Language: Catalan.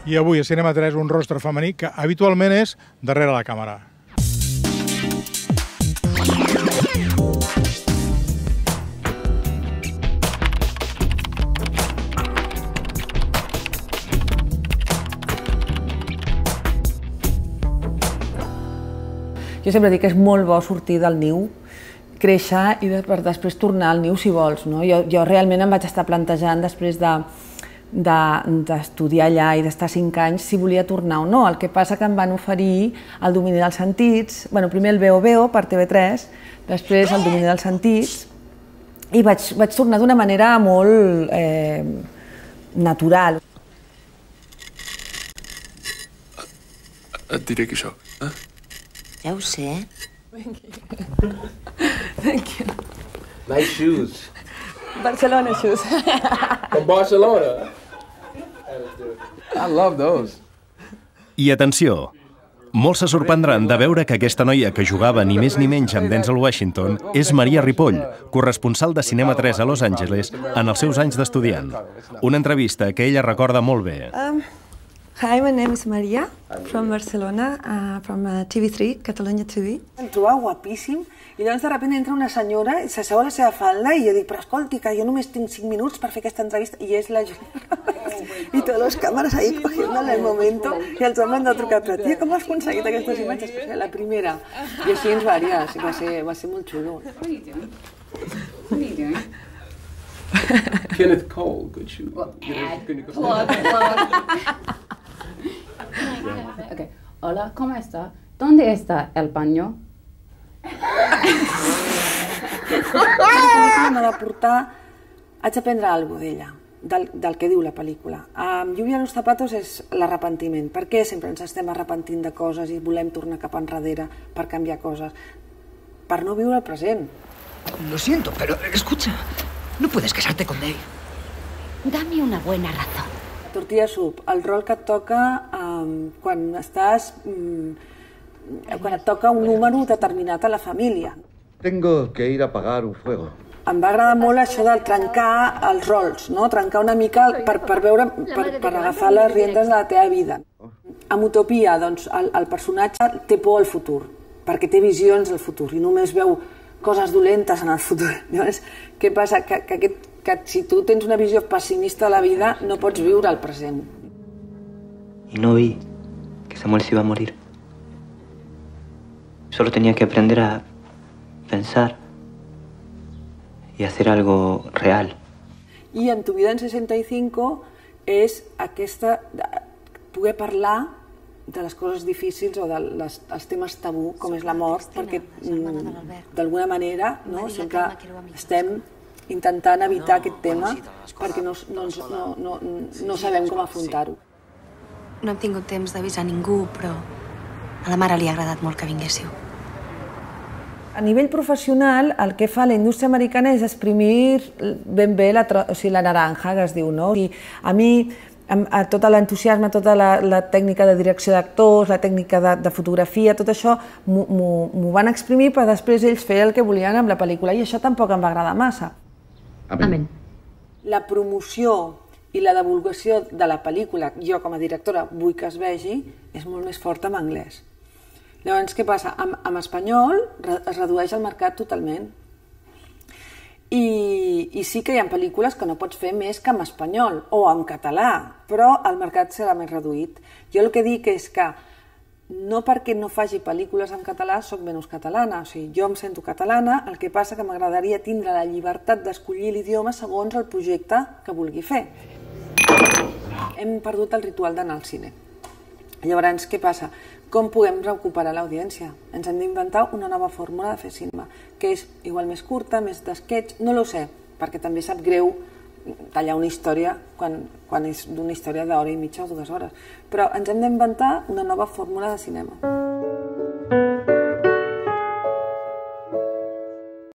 I avui a Cinema 3 un rostre femení que habitualment és darrere la càmera. Jo sempre dic que és molt bo sortir del niu, créixer i per després tornar al niu si vols. Jo realment em vaig estar plantejant després d'estudiar allà i d'estar 5 anys si volia tornar o no. El que passa que em van oferir el domini dels sentits, primer el Veo Veo per TV3, després el domini dels sentits, i vaig tornar d'una manera molt natural. Et diré que això, Ja ho sé. Thank you. Nice shoes. Barcelona shoes. From Barcelona. I love those. I atenció, molts se sorprendran de veure que aquesta noia que jugava ni més ni menys amb Denzel Washington és Maria Ripoll, corresponsal de Cinema 3 a Los Angeles en els seus anys d'estudiant. Una entrevista que ella recorda molt bé. Hi, my name is Maria, from Barcelona, from TV3, Catalunya TV. Em trobava guapíssim i llavors de sobte entra una senyora i s'asseu a la seva falda i jo dic, però escolti, que jo només tinc 5 minuts per fer aquesta entrevista i és la Julia Roberts. I totes les càmeres ahí cogiendo el momento i els homes han de trucar, però tia, com has aconseguit aquestes imatges? Pues la primera. I així ens varies, va ser molt xulo. What are you doing? What are you doing? Kenneth Cole, good shoe. Plug. Okay. Hola, ¿cómo está? ¿Dónde está el baño? M'ha de portar... Haig d'aprendre alguna cosa d'ella, del que diu la pel·lícula. Lluvia a los zapatos és l'arrepentiment. Per què sempre ens estem arrepentint de coses i volem tornar cap enrere per canviar coses? Per no viure el present. Lo siento, pero escucha, no puedes casarte con Dave. Dame una buena razón. Tortilla Soup, el rol que et toca quan et toca un número determinat a la família. Tengo que ir a apagar un fuego. Em va agradar molt això de trencar els rols, no? Trencar una mica per agafar les riendes de la teva vida. Amb Utopia, doncs, el personatge té por al futur, perquè té visions del futur i només veu coses dolentes en el futur. Llavors, què passa? Que si tu tens una visió pessimista de la vida, no pots viure el present. Y no vi que Samuel se iba a morir. Solo tenía que aprender a pensar y hacer algo real. I en Tu vida en 65 és aquesta... poder parlar de les coses difícils o dels temes tabú, com és la mort, perquè d'alguna manera sempre estem intentant evitar aquest tema perquè no sabem com afrontar-ho. No hem tingut temps d'avisar ningú, però a la mare li ha agradat molt que vinguéssiu. A nivell professional, el que fa la indústria americana és exprimir ben bé la naranja, que es diu, no? A mi, tot l'entusiasme, tota la tècnica de direcció d'actors, la tècnica de fotografia, tot això m'ho van exprimir per després ells fer el que volien amb la pel·lícula i això tampoc em va agradar massa. Amén. La promoció i la divulgació de la pel·lícula, jo com a directora vull que es vegi, és molt més forta en anglès. Llavors, què passa? En espanyol es redueix el mercat totalment. I sí que hi ha pel·lícules que no pots fer més que en espanyol o en català, però el mercat serà més reduït. Jo el que dic és que no perquè no faci pel·lícules en català soc menys catalana, o sigui, jo em sento catalana, el que passa que m'agradaria tindre la llibertat d'escollir l'idioma segons el projecte que vulgui fer. Hem perdut el ritual d'anar al cine. Llavors, què passa? Com podem recuperar l'audiència? Ens hem d'inventar una nova fórmula de fer cinema, que és igual més curta, més d'esquetx, no ho sé, perquè també sap greu tallar una història quan és d'una història d'hora i mitja o 2 hores. Però ens hem d'inventar una nova fórmula de cinema.